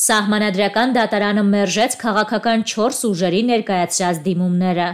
Սահմանադրական դատարանը մերժեց քաղաքական 4 ուժերի ներկայացրած դիմումները։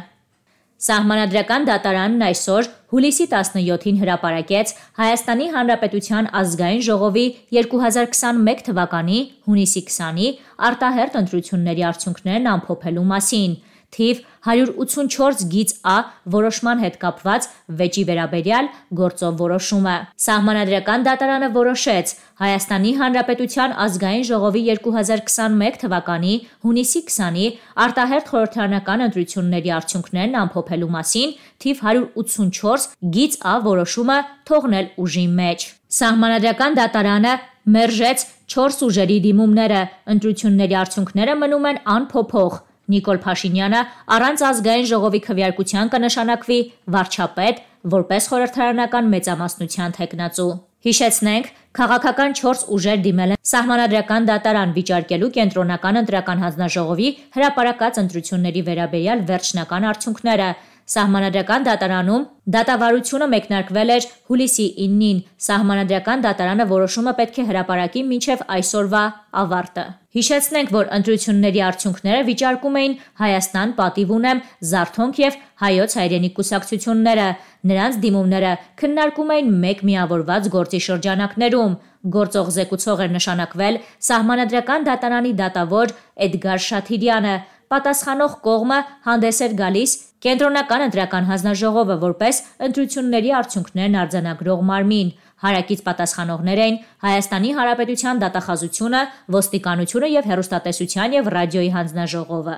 Սահմանադրական դատարանն այսօր հուլիսի 17-ին հրապարակեց Հայաստանի Հանրապետության ազգային ժողովի 2021 թվականի հունիսի 20-ի արտահերթ ընտրությունների արդյունքներն ամփոփելու մասին։ Թիվ 184 գիծ Ա որոշման հետ կապված վեճի վերաբերյալ գործով որոշումը։ Սահմանադրական դատարանը որոշեց Հայաստանի Հանրապետության ազգային ժողովի 2021 թվականի հունիսի 20-ի արտահերթ խորհրդարանական ընտրությունների արդյունքներն ամփոփելու մասին թիվ 184 գիծ Ա որոշումը թողնել ուժի մեջ։ Սահմանադրական դատարանը մերժեց 4 ուժերի դիմումները, ընտրությունների արդյունքները մնում են անփոփոխ։ Նիկոլ Փաշինյանը առանց ազգային ժողովի քվեարկության կնշանակվի վարչապետ, որպես խորհրդարանական մեծամասնության թեկնածու։ Հիշեցնենք, քաղաքական 4 ուժեր դիմել են Սահմանադրական դատարան վիճարկելու կենտրոնական ընտրական հանձնաժողովի հրապարակած ընտրությունների վերաբերյալ վերջնական արդյունքները։ Սահմանադրական դատարանում դատավարությունը մեկնարկվել էր հուլիսի 9-ին։ Սահմանադրական դատարանը որոշումը պետք է հրապարակի մինչև այսօրվա ավարտը։ Հիշեցնենք, որ ընտրությունների արդյունքները վիճարկում էին Հայաստան պատիվ ունեմ, Զարթոնք և Հայոց հայրենիք կուսակցությունները։ Նրանց դիմումները քննարկում էին մեկ միավորված գործի շրջանակներում։ Գործող զեկուցող էր նշանակվել Սահմանադրական դատարանի դատավոր Էդգար Շաթիրյանը։ Պատասխանող կողմը հանդես էր գալիս Կենտրոնական ընտրական հանձնաժողովը որպես ընտրությունների արդյունքներն արձանագրող մարմին։ Հարակից պատասխանողներ էին Հայաստանի Հանրապետության դատախազությունը, ոստիկանությունը և հեռուստատեսության և ռադիոյի հանձնաժողովը։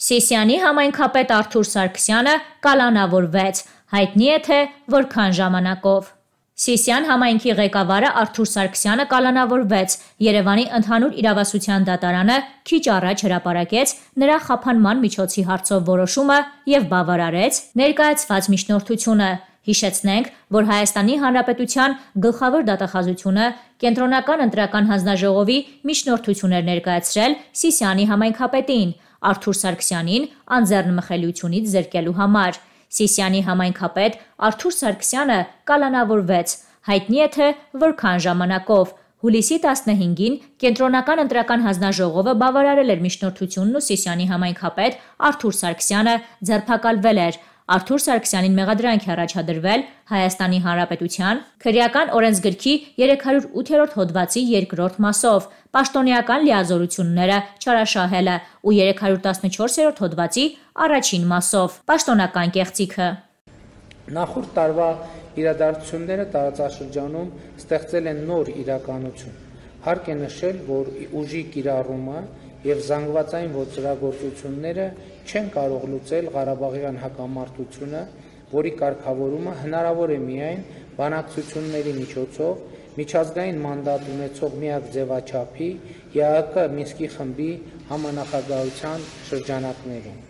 Սիսիանի համայնքապետ Արթուր Սարգսյանը կալանավորվեց, հայտնի է թե որքան ժամանակով։ Սիսիան համայնքի ղեկավարը Արթուր Սարգսյանը կալանավորվեց։ Երևանի ընդհանուր իրավասության դատարանը քիչ առաջ հրապարակեց նրա խափանման միջոցի հարցով որոշումը և բավարարեց ներկայացված միջնորդությունը։ Հիշեցնենք, որ Հայաստանի Հանրապետության գլխավոր դատախազությունը Կենտրոնական ընտրական հանձնաժողովի միջնորդություն էր ներկայացրել Սիսիանի համայնքապետին Արթուր Սարգսյանին անձեռնմխելիությունից զրկելու համար։ Սիսիանի համայնքապետ Արթուր Սարգսյանը կալանավորվեց, հայտնի է թե որքան ժամանակով։ Հուլիսի 15-ին Կենտրոնական ընտրական հանձնաժողովը բավարարել էր միջնորդությունն ու Սիսիանի համայնքապետ Արթուր Սարգսյանը ձերբակալվել էր։ Արթուր Սարգսյանին մեղադրանք է առաջադրվել Հայաստանի Հանրապետության քրեական օրենսգրքի 308-րդ հոդվածի 2-րդ մասով, պաշտոնեական լիազորությունները չարաշահելը ու 314-րդ հոդվածի առաջին մասով, պաշտոնական կեղծիքը։ Նախորդ տարվա իրադարձությունները տարածաշրջանում ստեղծել են նոր իրականություն։ Հարկ է նշել, որ ուժի կիրառումը և զանգվածային ոճրագործությունները չեն կարող լուծել Ղարաբաղյան հակամարտությունը, որի կարգավորումը հնարավոր է միայն բանակցությունների միջոցով միջազգային մանդատ ունեցող միակ ձևաչափի ԵԱՀԿ Մինսկի խմբի համանախագահության շրջանակներում։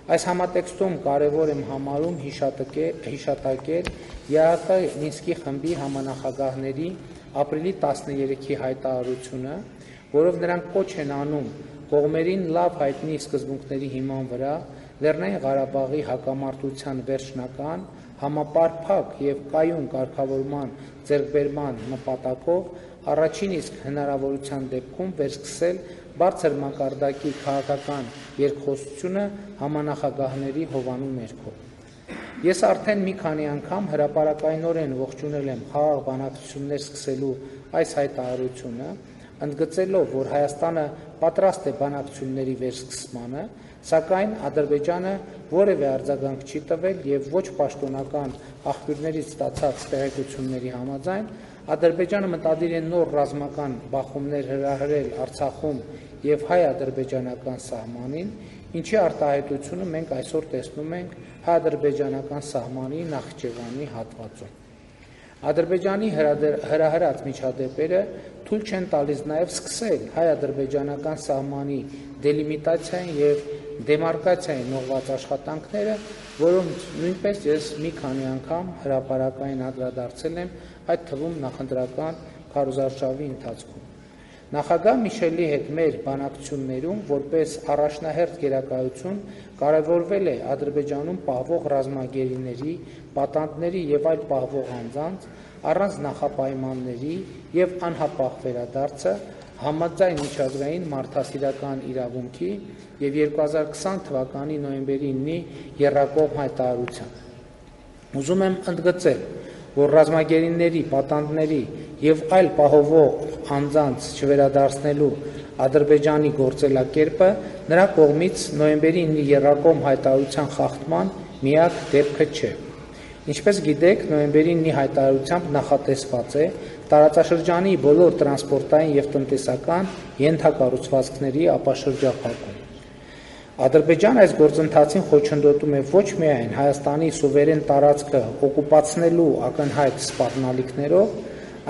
Այս համատեքստում կարևոր եմ համարում հիշատակել ԵԱՀԿ Մինսկի խմբի համանախագահների ապրիլի 13-ի հայտարարությունը, որով նրանք կոչ են անում կողմերին լավ հայտնի սկզբունքների հիման վրա Լեռնային Ղարաբաղի հակամարտության վերջնական, համապարփակ և կայուն կարգավորման ձեռքբերման նպատակով առաջին իսկ հնարավորության դեպքում վերսկսել բարձր մակարդակի քաղաքական երկխոսությունը համանախագահների հովանու ներքո։ Ես արդեն մի քանի անգամ հրապարակայնորեն ողջունել եմ խաղաղ բանակցություններ սկսելու այս հայտարարությունը, ընդգծելով, որ Հայաստանը պատրաստ է բանակցությունների վերսկսմանը, սակայն Ադրբեջանը որևէ արձագանք չի տվել և ոչ պաշտոնական աղբյուրներից ստացած տեղեկությունների համաձայն Ադրբեջանը մտադիր է նոր ռազմական բախումներ հրահրել Արցախում և հայ-ադրբեջանական սահմանին, ինչի արտահայտությունը մենք այսօր տեսնում ենք հայ-ադրբեջանական սահմանի Նախիջևանի հատվածում։ Ադրբեջանի հրահրած միջադեպերը թույլ չեն տալիս նաև սկսել հայ-ադրբեջանական սահմանի դելիմիտացիային և դեմարկացիային ուղղված աշխատանքները, որոնց նույնպես ես մի քանի անգամ հրապարակային անդրադարձել եմ, այդ թվում նախընտրական քարոզարշավի ընթացքում։ Նախագահ Միշելի հետ մեր բանակցություններում որպես առաջնահերթ գերակայություն կարևորվել է Ադրբեջանում պահվող ռազմագերիների, պատանդների և այլ պահվող անձանց առանց նախապայմանների և անհապաղ վերադարձը, համաձայն միջազգային մարդասիրական իրավունքի և 2020 թվականի նոյեմբերի 9-ի եռակողմ հայտարարությամբ։ Ուզում եմ ընդգծել, որ ռազմագերիների, պատանդների և այլ պահովող անձանց չվերադարձնելու Ադրբեջանի գործելակերպը նրա կողմից նոյեմբերի 9-ի եռակողմ հայտարարության խախտման միակ դեպքը չէ։ Ինչպես գիտեք, նոյեմբերի 9-ի հայտարարությամբ նախատեսված է տարածաշրջանի բոլոր տրանսպորտային և տնտեսական ենթակառուցվածքների ապաշրջափակում։ Ադրբեջանը այս գործընթացին խոչընդոտում է ոչ միայն Հայաստանի սուվերեն տարածքը օկուպացնելու ակնհայտ սպառնալիքներով,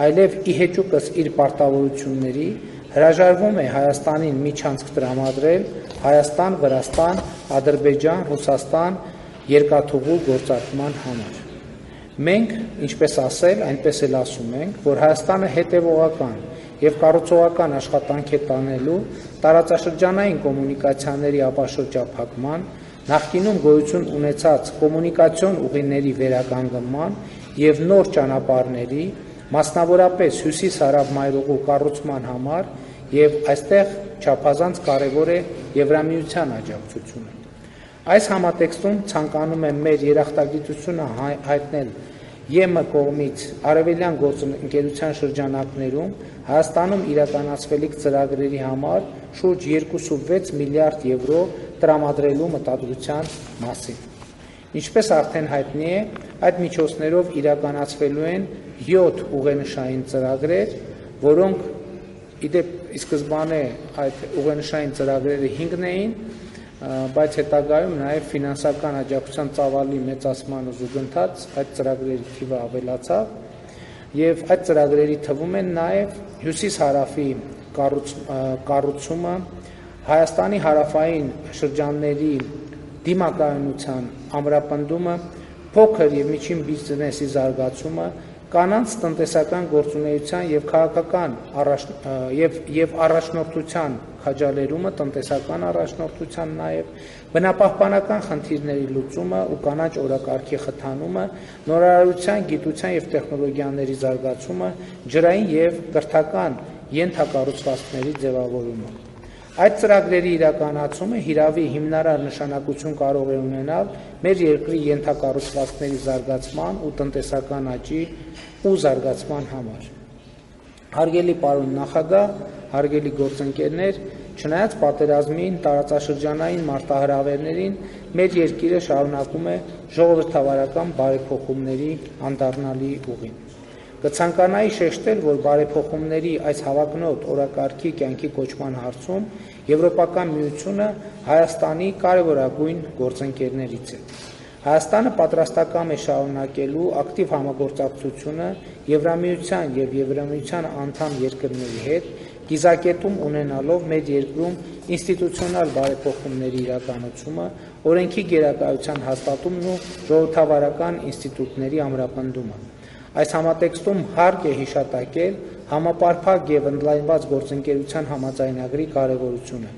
այլև ի հեճուկս իր պարտավորությունների հրաժարվում է Հայաստանին միջանցք տրամադրել Հայաստան-Վրաստան, Ադրբեջան-Ռուսաստան երկաթուղու գործարկման համար։ Մենք, ինչպես ասել, այնպես էլ ասում ենք, որ Հայաստանը հետևողական և կառուցողական աշխատանք է տանելու տարածաշրջանային կոմունիկացիաների ապաշրջափակման, նախկինում գոյություն ունեցած կոմունիկացիոն ուղիների վերականգնման և նոր ճանապարհների, մասնավորապես հյուսիս-հարավ մայրուղու կառուցման համար և այստեղ չափազանց կարևոր է Եվրամիության աջակցությունը։ Այս համատեքստում ցանկանում եմ մեր երախտագիտությունը հայտնել ԵՄ կողմից արևելյան գործընկերության շրջանակներում Հայաստանում իրականացվելիք ծրագրերի համար շուրջ 2.6 միլիարդ եվրո տրամադրելու մտադրության մասին։ Ինչպես արդեն հայտնի է, այդ միջոցներով իրականացվելու են 7 ուղենշային ծրագրեր, որոնք իդեպ ի սկզբանե այդ ուղենշային ծրագրերը 5-ն էին, բայց հետագայում նաև ֆինանսական աջակցության ծավալի մեծացման զուգընթաց այդ ծրագրերի թիվը ավելացավ և այդ ծրագրերի թվում են նաև հյուսիս-հարավի կառուցումը, Հայաստանի հարավային շրջանների դիմակայունության ամրապնդումը, փոքր և միջին բիզնեսի զարգացումը, կանանց տնտեսական գործունեության և քաղաքական և առաջնորդության քաջալերումը, տնտեսական առաջնորդության նաև, բնապահպանական խնդիրների լուծումը ու կանաչ օրակարգի խթանումը, նորարարության, գիտության և տեխնոլոգիաների զարգացումը, ջրային և կրթական ենթակառուցվածքների ձևավորումը։ Այդ ծրագրերի իրականացումը հիրավի հիմնարար նշանակություն կարող է ունենալ մեր երկրի ենթակառուցվածքների զարգացման ու տնտեսական աճի ու զարգացման համար։ Հարգելի պարոն նախագահ, հարգելի գործընկերներ, չնայած պատերազմին, տարածաշրջանային մարտահրավերներին, մեր երկիրը շարունակում է ժողովրդավարական բարեփոխումների անդառնալի ուղին։ Կցանկանայի շեշտել, որ բարեփոխումների այս հավակնոտ օրակարգի կյանքի կոչման հարցում Եվրոպական միությունը Հայաստանի կարևորագույն գործընկերներից է։ Հայաստանը պատրաստակամ է շարունակելու ակտիվ համագործակցությունը Եվրամիության և Եվրամիության անդամ երկրների հետ, կիզակետում ունենալով մեր երկրում ինստիտուցիոնալ բարեփոխումների իրականացումը, օրենքի գերակայության հաստատումն ու ժողովրդավարական ինստիտուտների ամրապնդումը։ Այս համատեքստում հարկ է հիշատակել համապարփակ և ընդլայնված գործընկերության համաձայնագրի կարևորությունը։